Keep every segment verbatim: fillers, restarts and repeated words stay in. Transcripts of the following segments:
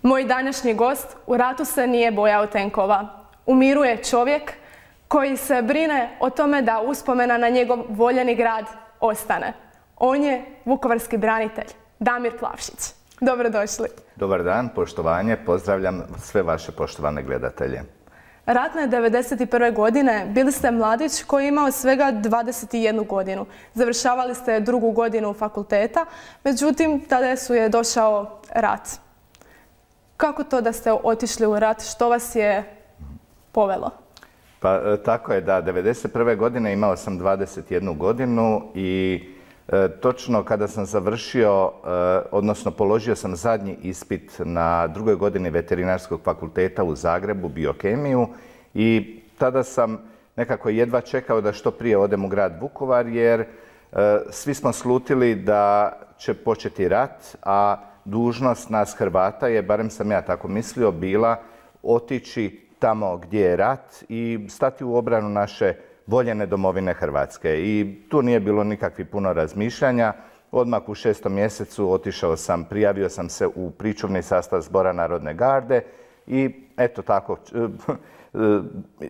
Moj današnji gost u ratu se nije bojao tenkova. U miru je čovjek koji se brine o tome da uspomena na njegov voljeni grad ostane. On je vukovarski branitelj, Damir Plavšić. Dobrodošli. Dobar dan, poštovanje. Pozdravljam sve vaše poštovane gledatelje. Ratne devedeset prve godine bili ste mladić koji je imao svega dvadeset jednu godinu. Završavali ste drugu godinu fakulteta, međutim tada su je došao rat. Kako to da ste otišli u rat? Što vas je povelo? Pa tako je da, devedeset prve godine imao sam dvadeset jednu godinu i e, točno kada sam završio, e, odnosno položio sam zadnji ispit na drugoj godini veterinarskog fakulteta u Zagrebu, biokemiju, i tada sam nekako jedva čekao da što prije odem u grad Vukovar, jer e, svi smo slutili da će početi rat, a dužnost nas Hrvata je, barem sam ja tako mislio, bila otići tamo gdje je rat i stati u obranu naše voljene domovine Hrvatske. I tu nije bilo nikakvih puno razmišljanja. Odmah u šestom mjesecu otišao sam, prijavio sam se u pričuvni sastav Zbora narodne garde i eto tako,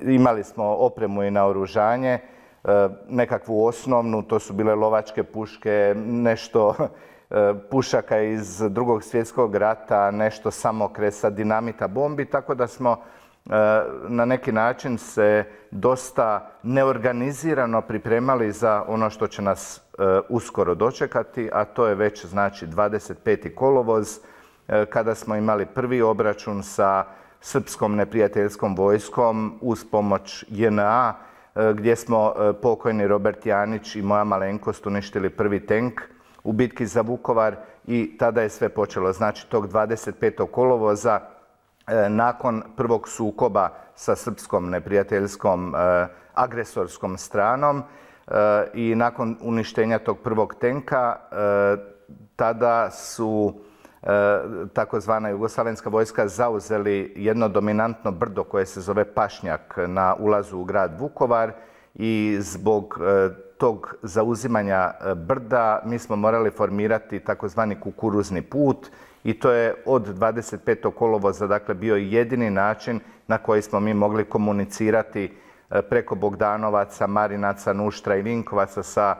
imali smo opremu i naoružanje, nekakvu osnovnu, to su bile lovačke puške, nešto pušaka iz Drugog svjetskog rata, nešto samokresa, dinamita, bombi, tako da smo na neki način se dosta neorganizirano pripremali za ono što će nas uskoro dočekati, a to je već znači dvadeset peti kolovoz, kada smo imali prvi obračun sa srpskom neprijateljskom vojskom uz pomoć J N A, gdje smo pokojni Robert Janić i moja malenkost uništili prvi tenk u bitki za Vukovar i tada je sve počelo. Znači tog dvadeset petog kolovoza nakon prvog sukoba sa srpskom neprijateljskom agresorskom stranom i nakon uništenja tog prvog tenka, tada su takozvana jugoslavenska vojska zauzeli jedno dominantno brdo koje se zove Pašnjak na ulazu u grad Vukovar i zbog tog zauzimanja brda mi smo morali formirati takozvani kukuruzni put i to je od dvadeset petog kolovoza dakle bio jedini način na koji smo mi mogli komunicirati preko Bogdanovaca, Marinaca, Nuštra i Vinkovaca sa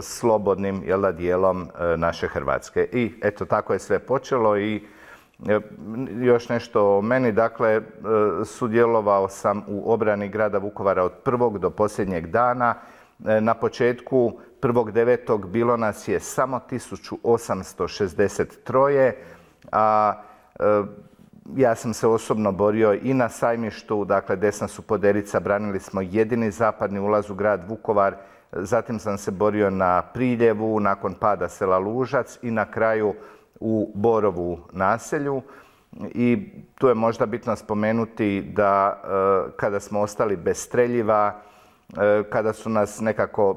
slobodnim jel da, dijelom naše Hrvatske. I eto tako je sve počelo i još nešto o meni, dakle sudjelovao sam u obrani grada Vukovara od prvog do posljednjeg dana. Na početku prvog devetog bilo nas je samo tisuću osamsto šezdeset tri, a ja sam se osobno borio i na Sajmištu, dakle desna su Poderica, branili smo jedini zapadni ulaz u grad Vukovar, zatim sam se borio na Priljevu, nakon pada sela Lužac i na kraju u Borovu naselju. I tu je možda bitno spomenuti da kada smo ostali bez streljiva, kada su nas nekako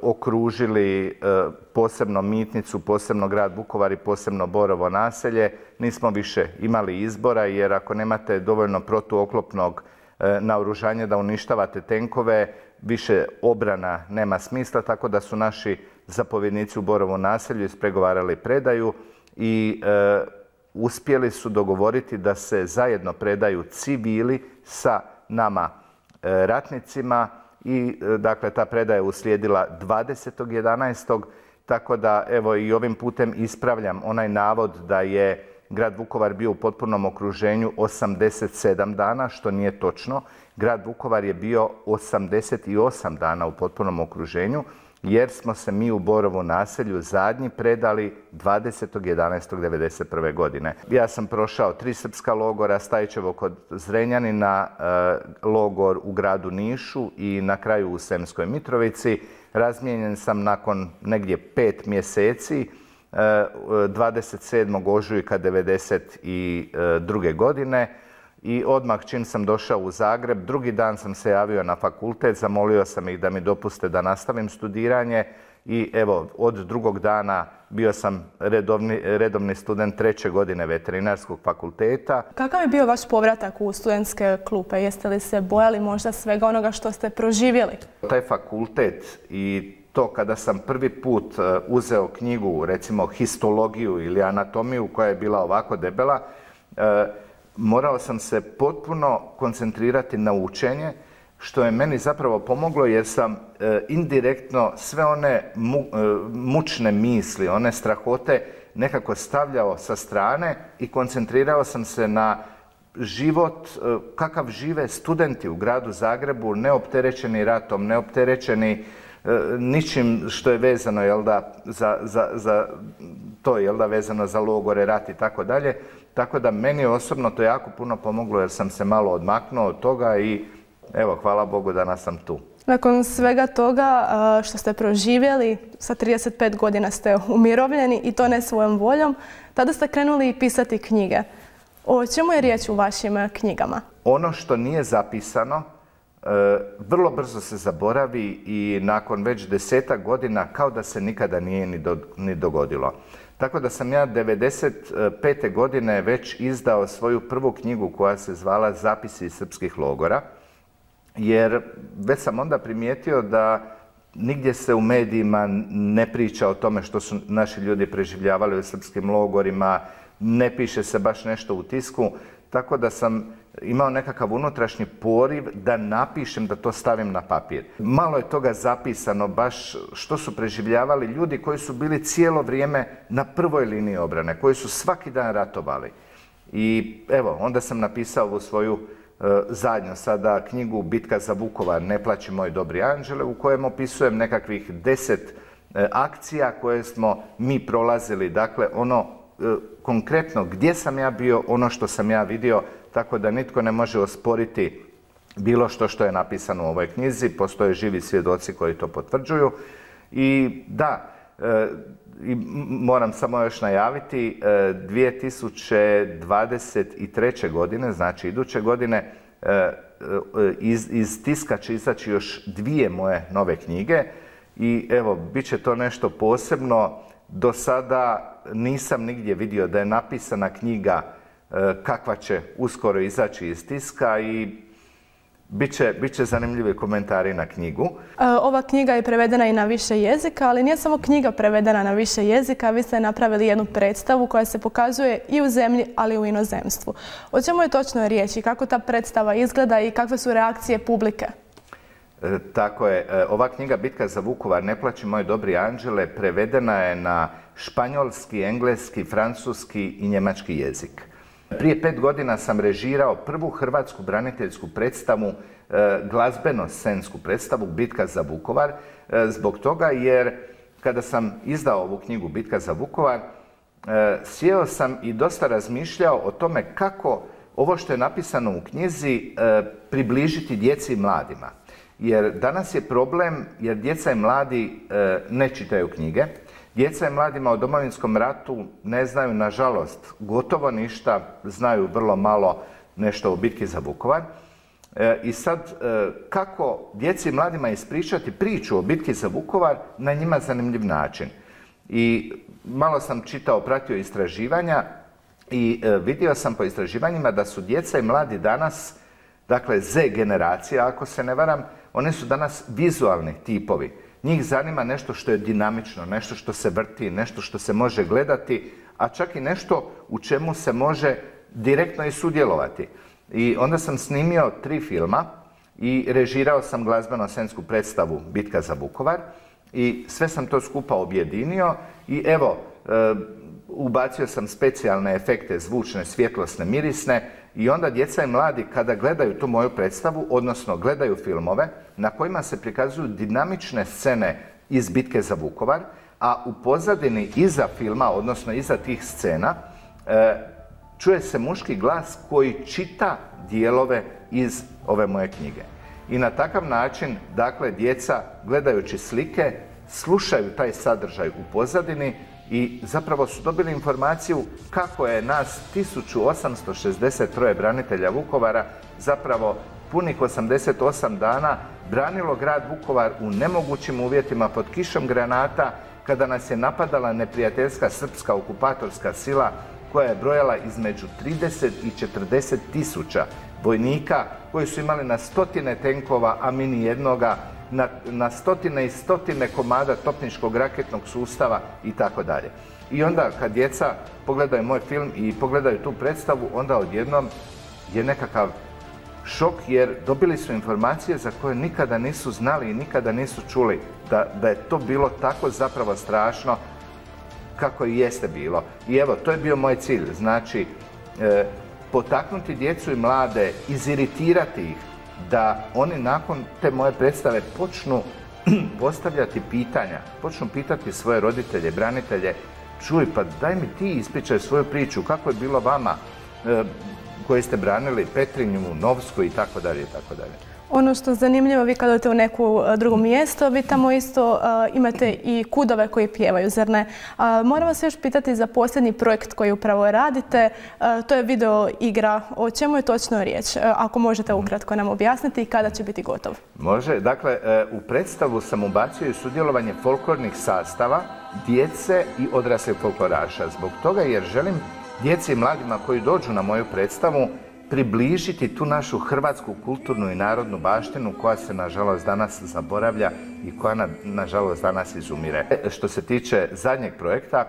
okružili posebno Mitnicu, posebno grad Vukovar i posebno Borovo naselje, nismo više imali izbora, jer ako nemate dovoljno protuoklopnog naoružanja da uništavate tenkove, više obrana nema smisla, tako da su naši zapovjednici u Borovom naselju ispregovarali predaju i e, uspjeli su dogovoriti da se zajedno predaju civili sa nama e, ratnicima i e, dakle ta predaja je uslijedila dvadesetog jedanaestog tako da evo i ovim putem ispravljam onaj navod da je grad Vukovar bio u potpunom okruženju osamdeset sedam dana, što nije točno. Grad Vukovar je bio osamdeset osam dana u potpunom okruženju, jer smo se mi u Borovu naselju zadnji predali dvadesetog jedanaestog devedeset prve godine. Ja sam prošao tri srpska logora, Stajićevo kod Zrenjanina, logor u gradu Nišu i na kraju u Sremskoj Mitrovici. Razmijenjen sam nakon negdje pet mjeseci, dvadeset sedmog ožujka devedeset druge godine i odmah čim sam došao u Zagreb, drugi dan sam se javio na fakultet, zamolio sam ih da mi dopuste da nastavim studiranje i evo od drugog dana bio sam redovni, redovni student treće godine veterinarskog fakulteta. Kakav je bio vaš povratak u studentske klupe? Jeste li se bojali možda svega onoga što ste proživjeli? Taj fakultet i to kada sam prvi put uzeo knjigu, recimo histologiju ili anatomiju koja je bila ovako debela, morao sam se potpuno koncentrirati na učenje, što je meni zapravo pomoglo jer sam indirektno sve one mučne misli, one strahote nekako stavljao sa strane i koncentrirao sam se na život kakav žive studenti u gradu Zagrebu, neopterećeni ratom, neopterećeni ničim što je vezano, jel da, za, za, za to, jel da, vezano za logore, rat i tako dalje. Tako da meni osobno to jako puno pomoglo jer sam se malo odmaknuo od toga i evo, hvala Bogu danas sam tu. Nakon svega toga što ste proživjeli, sa trideset pet godina ste umirovljeni i to ne svojom voljom, tada ste krenuli pisati knjige. O čemu je riječ u vašim knjigama? Ono što nije zapisano, vrlo brzo se zaboravi i nakon već desetak godina kao da se nikada nije ni dogodilo. Tako da sam ja devedeset pete godine već izdao svoju prvu knjigu koja se zvala Zapisi iz srpskih logora, jer već sam onda primijetio da nigdje se u medijima ne priča o tome što su naši ljudi preživljavali u srpskim logorima, ne piše se baš nešto u tisku, tako da sam imao nekakav unutrašnji poriv da napišem, da to stavim na papir. Malo je toga zapisano, baš što su preživljavali ljudi koji su bili cijelo vrijeme na prvoj liniji obrane, koji su svaki dan ratovali. I evo, onda sam napisao ovu svoju zadnju sada knjigu Bitka za Vukovar, Ne plaći moj dobri anđele, u kojem opisujem nekakvih deset akcija koje smo mi prolazili. Dakle, ono konkretno gdje sam ja bio, ono što sam ja vidio, tako da nitko ne može osporiti bilo što što je napisano u ovoj knjizi. Postoje živi svjedoci koji to potvrđuju. I da, i moram samo još najaviti, dvije tisuće dvadeset treće. godine, znači iduće godine, iz, iz tiska će izaći još dvije moje nove knjige i evo, bit će to nešto posebno. Do sada nisam nigdje vidio da je napisana knjiga kakva će uskoro izaći iz tiska i bit će, bit će zanimljivi komentari na knjigu. Ova knjiga je prevedena i na više jezika, ali nije samo knjiga prevedena na više jezika, vi ste napravili jednu predstavu koja se pokazuje i u zemlji, ali i u inozemstvu. O čemu je točno riječ i kako ta predstava izgleda i kakve su reakcije publike? E, tako je. Ova knjiga Bitka za Vukovar, Ne plaći moj dobri anđele, prevedena je na španjolski, engleski, francuski i njemački jezik. Prije pet godina sam režirao prvu hrvatsku braniteljsku predstavu, glazbeno-scensku predstavu Bitka za Vukovar, zbog toga jer kada sam izdao ovu knjigu Bitka za Vukovar, sjeo sam i dosta razmišljao o tome kako ovo što je napisano u knjizi približiti djeci i mladima. Jer danas je problem jer djeca i mladi ne čitaju knjige. Djeca i mladima o Domovinskom ratu ne znaju, nažalost, gotovo ništa, znaju vrlo malo nešto o bitki za Vukovar. I sad, kako djeci i mladima ispričati priču o bitki za Vukovar na njima zanimljiv način? I malo sam čitao, pratio istraživanja i vidio sam po istraživanjima da su djeca i mladi danas, dakle Z generacija, ako se ne varam, one su danas vizualni tipovi. Njih zanima nešto što je dinamično, nešto što se vrti, nešto što se može gledati, a čak i nešto u čemu se može direktno i sudjelovati. I onda sam snimio tri filma i režirao sam glazbeno-scensku predstavu Bitka za Vukovar i sve sam to skupa objedinio i evo, e, ubacio sam specijalne efekte, zvučne, svjetlosne, mirisne i onda djeca i mladi kada gledaju tu moju predstavu, odnosno gledaju filmove na kojima se prikazuju dinamične scene iz Bitke za Vukovar, a u pozadini iza filma, odnosno iza tih scena, e, čuje se muški glas koji čita dijelove iz ove moje knjige. I na takav način, dakle, djeca gledajući slike, slušaju taj sadržaj u pozadini i zapravo su dobili informaciju kako je nas tisuću osamsto šezdeset troje branitelja Vukovara zapravo punih osamdeset osam dana branilo grad Vukovar u nemogućim uvjetima pod kišom granata kada nas je napadala neprijateljska srpska okupatorska sila koja je brojala između trideset i četrdeset tisuća vojnika koji su imali na stotine tenkova, a mi ni jednoga, na, na stotine i stotine komada topničkog raketnog sustava i tako dalje. I onda kad djeca pogledaju moj film i pogledaju tu predstavu, onda odjednom je nekakav šok jer dobili su informacije za koje nikada nisu znali i nikada nisu čuli da, da je to bilo tako zapravo strašno kako i jeste bilo. I evo, to je bio moj cilj, znači e, potaknuti djecu i mlade, iziritirati ih, da oni nakon te moje predstave počnu postavljati pitanja, počnu pitati svoje roditelje, branitelje, čuj, pa daj mi ti ispričaj svoju priču, kako je bilo vama e, koji ste branili Petrinju, Novsku i tako dalje i tako dalje. Ono što je zanimljivo, vi kad odete u neku drugo mjesto, vi tamo isto uh, imate i kudove koji pjevaju, zar ne? Uh, moram vas još pitati za posljednji projekt koji upravo radite. Uh, to je video igra. O čemu je točno riječ? Uh, ako možete ukratko nam objasniti i kada će biti gotov? Može. Dakle, uh, u predstavu sam ubacio i sudjelovanje folklornih sastava, djece i odraslih folkloraša. Zbog toga jer želim djeci i mladima koji dođu na moju predstavu približiti tu našu hrvatsku kulturnu i narodnu baštinu koja se nažalost danas zaboravlja i koja na, nažalost danas izumire. Što se tiče zadnjeg projekta,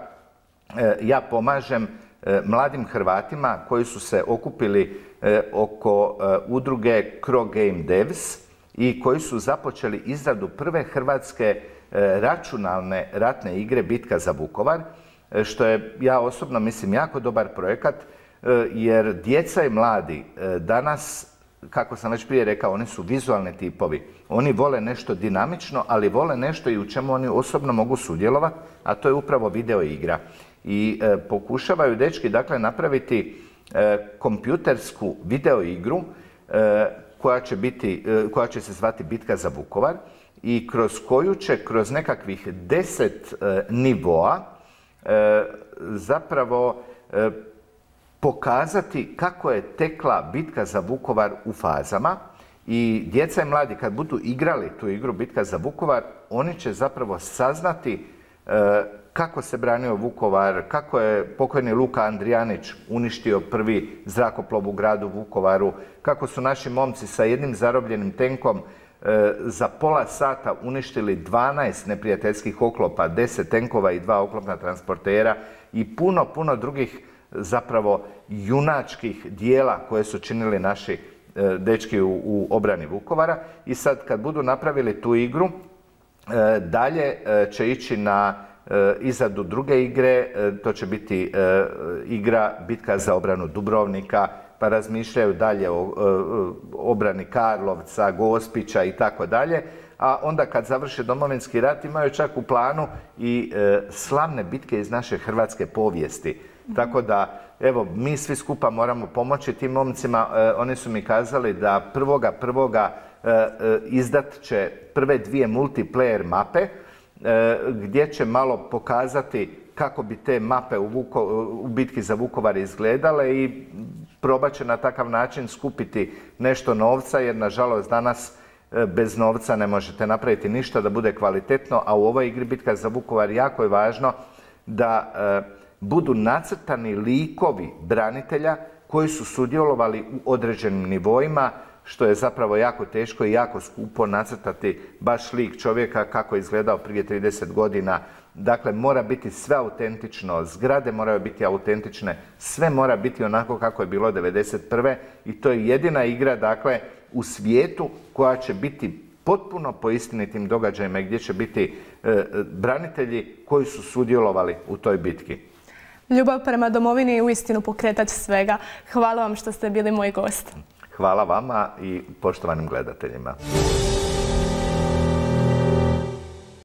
ja pomažem mladim Hrvatima koji su se okupili oko udruge Cro Game Devs i koji su započeli izradu prve hrvatske računalne ratne igre Bitka za Vukovar, što je, ja osobno mislim, jako dobar projekat, jer djeca i mladi danas, kako sam već prije rekao, oni su vizualni tipovi. Oni vole nešto dinamično, ali vole nešto i u čemu oni osobno mogu sudjelovati, a to je upravo video igra. I e, pokušavaju dečki, dakle, napraviti e, kompjutersku video igru e, koja će biti, e, koja će se zvati Bitka za Vukovar i kroz koju će, kroz nekakvih deset e, nivoa, e, zapravo e, pokazati kako je tekla bitka za Vukovar u fazama i djeca i mladi kad budu igrali tu igru Bitka za Vukovar, oni će zapravo saznati e, kako se branio Vukovar, kako je pokojni Luka Andrijanić uništio prvi zrakoplov u gradu Vukovaru, kako su naši momci sa jednim zarobljenim tenkom e, za pola sata uništili dvanaest neprijateljskih oklopa, deset tenkova i dva oklopna transportera i puno, puno drugih zapravo junačkih dijela koje su činili naši e, dečki u, u obrani Vukovara. I sad kad budu napravili tu igru, e, dalje e, će ići na e, izradu druge igre, e, to će biti e, igra Bitka za obranu Dubrovnika, pa razmišljaju dalje o e, obrani Karlovca, Gospića i tako dalje. A onda kad završe Domovinski rat imaju čak u planu i e, slavne bitke iz naše hrvatske povijesti. Tako da, evo, mi svi skupa moramo pomoći tim momcima. E, oni su mi kazali da prvoga prvoga e, e, izdat će prve dvije multiplayer mape, e, gdje će malo pokazati kako bi te mape u, Vuko, u bitki za Vukovar izgledale i probat će na takav način skupiti nešto novca, jer nažalost danas e, bez novca ne možete napraviti ništa da bude kvalitetno, a u ovoj igri Bitka za Vukovar jako je važno da e, budu nacrtani likovi branitelja koji su sudjelovali u određenim nivoima, što je zapravo jako teško i jako skupo nacrtati baš lik čovjeka kako je izgledao prije trideset godina. Dakle, mora biti sve autentično, zgrade moraju biti autentične, sve mora biti onako kako je bilo devedeset prve i to je jedina igra, dakle, u svijetu koja će biti potpuno po istinitim događajima gdje će biti e, branitelji koji su sudjelovali u toj bitki. Ljubav prema domovini je uistinu pokretač svega. Hvala vam što ste bili moj gost. Hvala vama i poštovanim gledateljima.